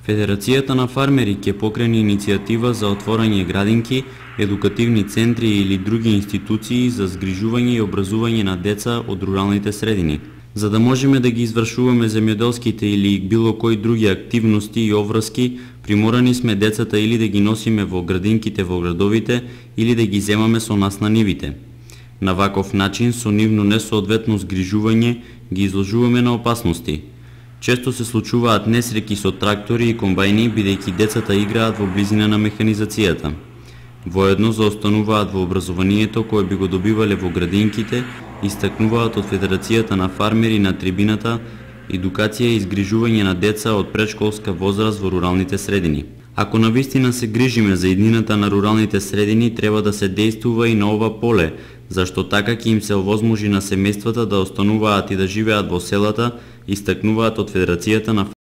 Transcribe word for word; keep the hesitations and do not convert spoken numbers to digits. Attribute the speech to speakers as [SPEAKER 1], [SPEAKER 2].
[SPEAKER 1] Федерацијата на фармери ќе покрени иницијатива за отворање градинки, едукативни центри или други институции за згрижување и образување на деца од руралните средини. За да можеме да ги извршуваме земјоделските или било кои други активности и обврски, приморани сме децата или да ги носиме во градинките во градовите или да ги земаме со нас на нивите. На ваков начин, со нивно несоодветно згрижување, ги изложуваме на опасности. Често се случуваат несреќи со трактори и комбајни, бидејќи децата играат во близина на механизацијата. Воедно заостануваат во образованието кое би го добивале во градинките, истакнуваат од Федерацијата на фармери на трибината едукација и изгрижување на деца од предшколска возраст во руралните средини. Ако навистина се грижиме за иднината на руралните средини, треба да се дејствува и на ова поле, зашто така ќе им се овозможи на семејствата да остануваат и да живеат во селата, истакнуваат од Федерацијата на